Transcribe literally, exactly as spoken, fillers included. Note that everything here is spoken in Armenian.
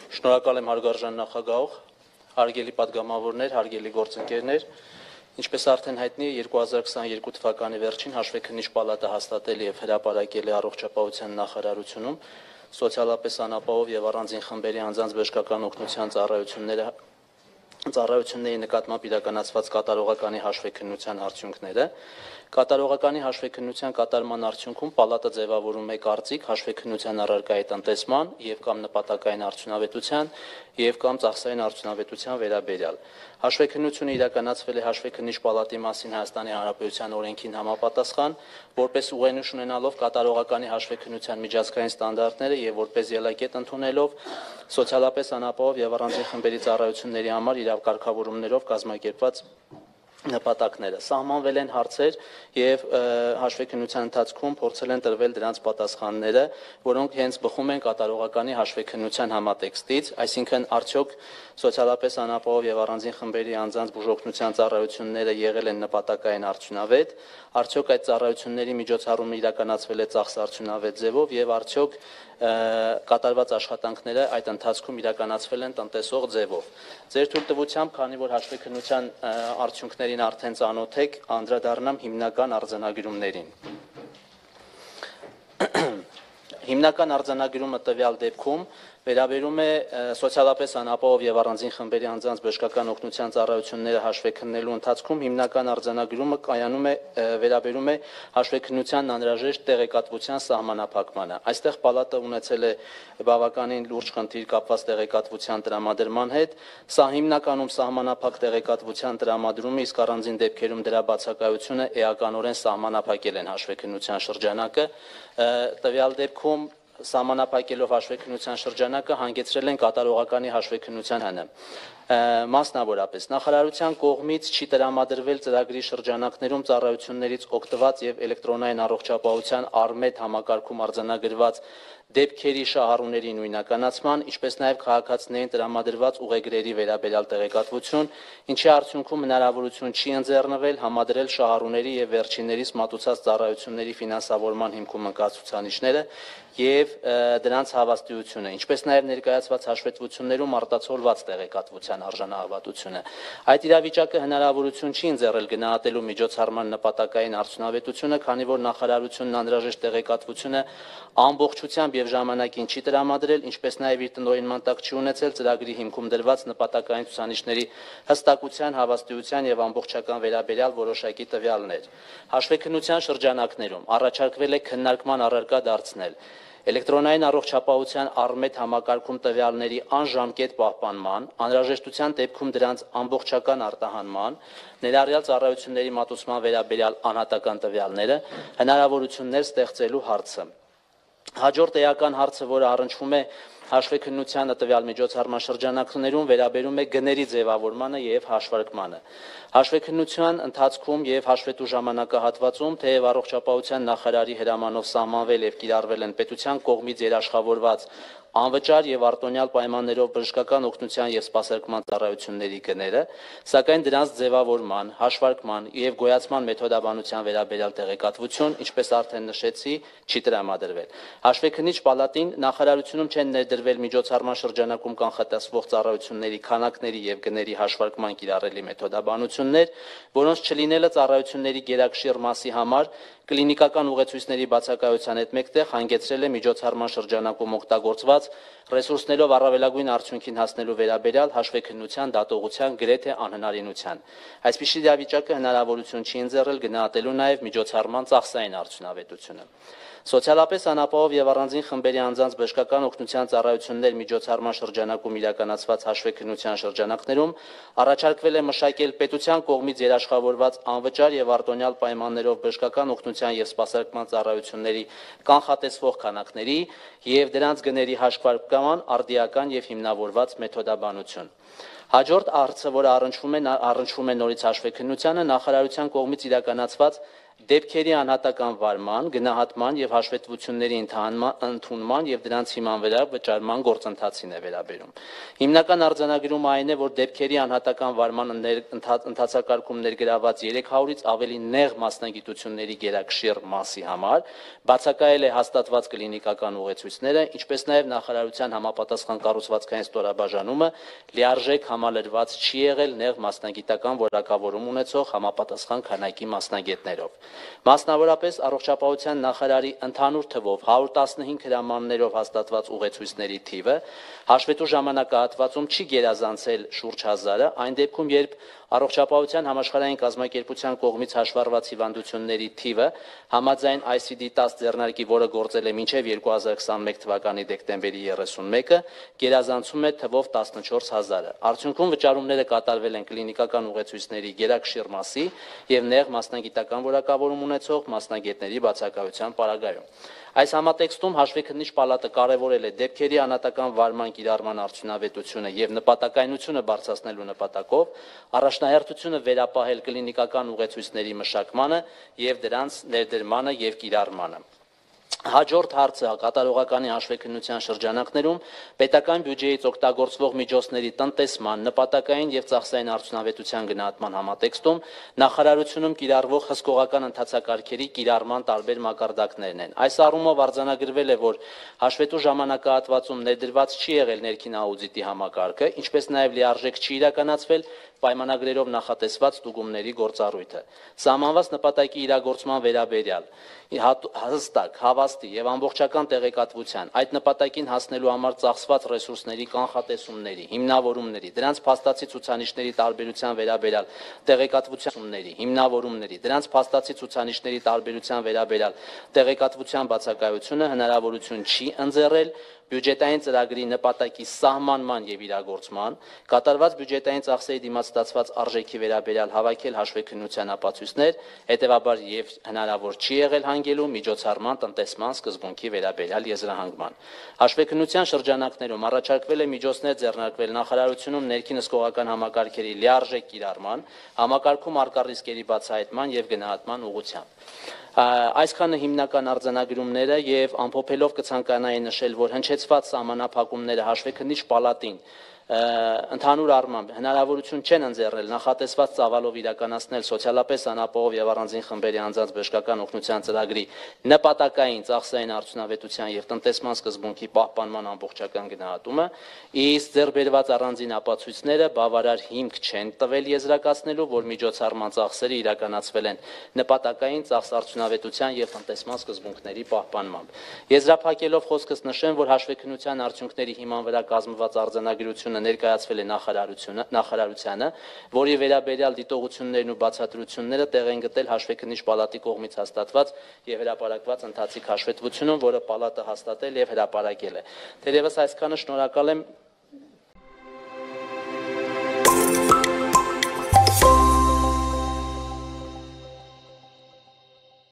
Շնորհակալ եմ հարգարժան նախագահող, հարգելի պատգամավորներ, հարգելի գործընկերներ, ինչպես արդեն հայտնի է, երկու հազար քսաներկու թվականի վերջին Հաշվեկնիչ պալատը հաստատել եւ հրապարակել է առողջապահության նախարարությունում սոցիալապես անապահով եւ առանձին խմբերի անձանց բժշկական օգնության ծառայությունները ծառայությունների նկատմամբ իրականացված կատարողականի հաշվեկնության արդյունքները։ Կատարողականի հաշվեկնության կատարման արդյունքում պալատը ձևավորում է կարծիք հաշվեկնության առարկայի տնտեսման եւ կամ նպատակային արդյունավետության եւ կամ ծախսային արդյունավետության վերաբերյալ։ Հաշվեկնությունը իրականացվել է Հաշվեկնիչ պալատի մասին Հայաստանի Հանրապետության օրենքին համապատասխան, որպես ուղենիշ ունենալով կատարողականի հաշվեկնության միջազգային ստանդարտները եւ որպես ելակետ ընդունելով սոցիալապես անապահով եւ առանձին խմբերի ծառայությունների համար իրավկարգավորումներով կազմակերպված նպատակները։ Սահմանվել են հարցեր եւ հաշվեկնության ընթացքում փորձել են տրվել դրանց պատասխանները, որոնք հենց բխում են կատարողականի հաշվեկնության համատեքստից, այսինքն արդյոք սոցիալապես անապահով եւ առանձին խմբերի անձանց բուժօգնության ծառայությունները եղել են նպատակային արդյունավետ, արդյոք այդ ծառայությունների միջոցառումը իրականացվել է ծախս արդյունավետ ձևով եւ արդյոք կատարված աշխատանքները այդ ընթացքում իրականացվել են տնտեսող ձևով։ Ձեր թույլտվությամբ, քանի որ հաշվեկնության արդյունքներին արդեն ծանոթ եք, անդրադառնամ հիմնական արձանագրումներին։ Հիմնական արձանագրումը տվյալ դեպքում վերաբերում է սոցիալապես անապահով եւ առանձին խմբերի անձանց բժշկական օգնության ծառայությունները հաշվեկնելու ընթացքում հիմնական արձանագրումը կայանում է վերաբերում է հաշվեկնության անհրաժեշտ տեղեկատվության սահմանափակմանը։ Այստեղ պալատը ունեցել է բավականին լուրջ խնդիր կապված տեղեկատվության տրամադրման հետ։ Սա հիմնականում սահմանափակ տեղեկատվության տրամադրումը, իսկ առանձին դեպքերում դրա բացակայությունը էականորեն սահմանափակել են հաշվեկնության շրջանակը։ Տվյալ դեպքում սահմանափակելով հաշվեկնության շրջանակը հանգեցրել են կատարողականի հաշվեկնության հանը։ Մասնավորապես նախարարության կողմից չի տրամադրվել ծրագրի շրջանակներում ծառայություններից օգտված եւ էլեկտրոնային առողջապահության Արմետ համակարգում արձանագրված դեպքերի շահառուների նույնականացման, ինչպես նաև քաղաքացիներին տրամադրված ուղեգրերի վերաբերյալ տեղեկատվություն, ինչի արդյունքում հնարավորություն չի ընձեռնվել համադրել շահառուների եւ վերջիններիս մատուցած ծառայությունների ֆինանսավորման հիմքում ընկած ցուցանիշները եւ դրանց հավաստիությունը, ինչպես նաև ներկայացված հաշվետվություններում արտացոլված տեղեկատվության արժանահավատությունը։ Այդ իրավիճակը հնարավորություն չի ընձեռել գնահատելու միջոցառման նպատակային արդյունավետությունը, քանի որ նախարարությունն անհրաժեշտ տեղեկատվությունը ամբողջությամբ եւ ժամանակին չի տրամադրել, ինչպես նաև իր տնօրինման տակ չի ունեցել ծրագրի հիմքում դրված նպատակային ցուցանիշների հստակության, հավաստիության եւ ամբողջական վերաբերյալ որոշակի տվյալներ։ Հաշվեկնության շրջանակներում առաջարկվել է քննարկման առարկա դարձնել էլեկտրոնային առողջապահության Արմետ համակարգում տվյալների անժամկետ պահպանման, անհրաժեշտության դեպքում դրանց ամբողջական արտահանման, ներառյալ ծառայությունների մատուցման վերաբերյալ անհատական տվյալները, հնարավորություններ ստեղծելու հարցը։ Հաջորդ էական հարցը, որը առնչվում է հաշվեկնությանը տվյալ միջոցառման շրջանակներում, վերաբերում է գների ձևավորմանը եւ հաշվարկմանը։ Հաշվեկնության ընթացքում եւ հաշվետու ժամանակահատվածում թեև առողջապահության նախարարի հրամանով սահմանվել եւ կիրառվել են պետության կողմից երաշխավորված անվճար եւ արտոնյալ պայմաններով բժշկական օգնության եւ սպասարկման ծառայությունների գները, սակայն դրանց ձևավորման, հաշվարկման եւ գոյացման մեթոդաբանության վերաբերյալ տեղեկատվություն, ինչպես արդեն նշեցի, չի տրամադրվել։ Հաշվեկնիչ պալատին նախարարությունում չեն ներդրվել միջոցառման շրջանակում կանխատեսվող ծառայությունների քանակների եւ գների հաշվարկման կիրառելի մեթոդաբանություններ, որոնց չլինելը ծառայությունների գերակշիռ մասի համար կլինիկական ուղեցույցների բացակայության հետ մեկտեղ հանգեցրել է միջոցառման շրջանակում օգտագործված ռեսուրսներով առավելագույն արդյունքին հասնելու վերաբերյալ հաշվեկնության դատողության գրեթե անհնարինության։ Այսպիսի իրավիճակը հնարավորություն չի ընձեռել գնահատելու նաև միջոցառման ծախսային արդյունավետությունը։ Սոցիալապես անապահով եւ առանձին խմբերի անձանց բժշկական օգնության ծառայություններ միջոցառման շրջանակում իրականացված հաշվեկնության շրջանակներում առաջարկվել է մշակել պետության կողմից երաշխավորված անվճար եւ արտոնյալ պայմաններով բժշկական օգնության եւ սպասարկման ծառայությունների կանխատեսվող քանակների եւ դրանց գների հաշվարկման արդիական եւ հիմնավորված մեթոդաբանություն։ Հաջորդ հարցը, որը առնչվում է առնչվում է նորից հաշվեկնությանը, նախարարության կողմից իրականացված դեպքերի անհատական վարման, գնահատման եւ հաշվետվությունների ընդունման եւ դրանց հիման վրա վճարման գործընթացին է վերաբերում։ Հիմնական արձանագրումը այն է, որ դեպքերի անհատական վարման ընթացակարգում ներգրաված երեք հարյուրից ավելի նեղ մասնագիտությունների գերակշիռ մասի համար բացակայել է հաստատված կլինիկական ուղեցույցները, ինչպես նաեւ նախարարության համապատասխան կառուցվածքային ստորաբաժանումը լիարժեք համալրված չի եղել նեղ մասնագիտական որակավորում ունեցող համապատասխան քանակի մասնագետներով։ Մասնավորապես առողջապահության նախարարի ընդհանուր թվով հարյուր տասնհինգ հրամաններով հաստատված ուղեցույցների թիվը հաշվետու ժամանակահատվածում չի գերազանցել շուրջ հազարը, այն դեպքում, երբ առողջապահության համաշխարհային կազմակերպության կողմից հաշվառված հիվանդությունների թիվը համաձայն I C D ten ձեռնարկի, որը գործել է մինչև երկու հազար քսանմեկ թվականի դեկտեմբերի երեսունմեկը, գերազանցում է թվով տասնչորս հազարը։ Արդյունքում վճարումները կատարվել են կլինիկական ուղեցույցների գերակշիռ մասի եւ նեղ մասնագիտական որակավորում ունեցող մասնագետների բացակայության պարագայում։ Այս համատեքստում հաշվեկնիչ պալատը կարևորել է դեպքերի անհատական վարման կիրառման արդյունավետությունը եւ նպատակայնությունը բարձրացնելու նպատակով առաջնահերթությունը վերապահել կլինիկական ուղեցույցների մշակմանը եւ դրանց ներդրմանը եւ կիրառմանը։ Հաջորդ հարցը կատարողականի հաշվեկնության շրջանակներում պետական բյուջեից օգտագործվող միջոցների տնտեսման, նպատակային եւ ծախսային արդյունավետության գնահատման համատեքստում նախարարությունում կիրառվող հսկողական ընթացակարգերի կիրառման տարբեր մակարդակներն են։ Այս առումով արձանագրվել է, որ հաշվետու ժամանակահատվածում ներդրված չի եղել ներքին աուդիտի համակարգը, ինչպես նաեւ լիարժեք չի իրականացվել պայմանագրերով նախատեսված ստուգումների գործառույթը։ Սահմանված նպատակի իրագործման վերաբերյալ հստակ, հավաստի եւ ամբողջական տեղեկատվության, այդ նպատակին հասնելու համար ծախսված ռեսուրսների կանխատեսումների, հիմնավորումների, դրանց փաստացի ցուցանիշների տարբերության վերաբերյալ տեղեկատվությունների, հիմնավորումների, դրանց փաստացի ցուցանիշների տարբերության վերաբերյալ տեղեկատվության բացակայությունը հնարավորություն չի ընձեռել բյուջետային ծրագրի նպատակի սահմանման եւ իրագործման, կատարված բյուջետային ծախսերի դիմաց ստացված արժեքի վերաբերյալ հավաքել հաշվեկնության ապացույցներ, հետեւաբար եւ հնարավոր չի եղել հանգելու միջոցառման տնտեսման սկզբունքի վերաբերյալ եզրահանգման։ Հաշվեկնության շրջանակներում առաջարկվել է միջոցներ ձեռնարկվել նախարարությունում ներքին հսկողական համակարգերի լիարժեք կիրառման, համակարգում առկա ռիսկերի բացահայտման եւ գնահատման ուղղությամբ։ Այսքանը հիմնական արձանագրումները եւ ամփոփելով կցանկանայի նշել, որ հնչեցված սահմանափակումները հաշվեկնիչ պալատին ընդհանուր առմամբ հնարավորություն չեն ընձեռել նախատեսված ծավալով իրականացնել սոցիալապես անապահով եւ առանձին խմբերի անձանց բժշկական օգնության ծրագրի նպատակային ծախսային արդյունավետության եւ տնտեսման սկզբունքի պահպանման ամբողջական գնահատումը, իսկ ձեռբերված առանձին ապացույցները բավարար հիմք չեն տվել եզրակացնելու, որ միջոցառման ծախսերը իրականացվել են նպատակային ծախս արդյունավետության եւ տնտեսման սկզբունքների պահպանմամբ։ Եզրափակելով խոսքս նշեմ, որ հաշվեկնության արդյունքների հիման վրա կազմված արձանագրությունը ներկայացվել է նախարարությունը, նախարարությանը, որի վերաբերյալ դիտողություններն ու բացատրությունները տեղ են գտել հաշվեկնիչ պալատի կողմից հաստատված եւ հրապարակված ընթացիկ հաշվետվությունում, որը պալատը հաստատել եւ հրապարակել է։ Թերևս այսքանը, շնորհակալ եմ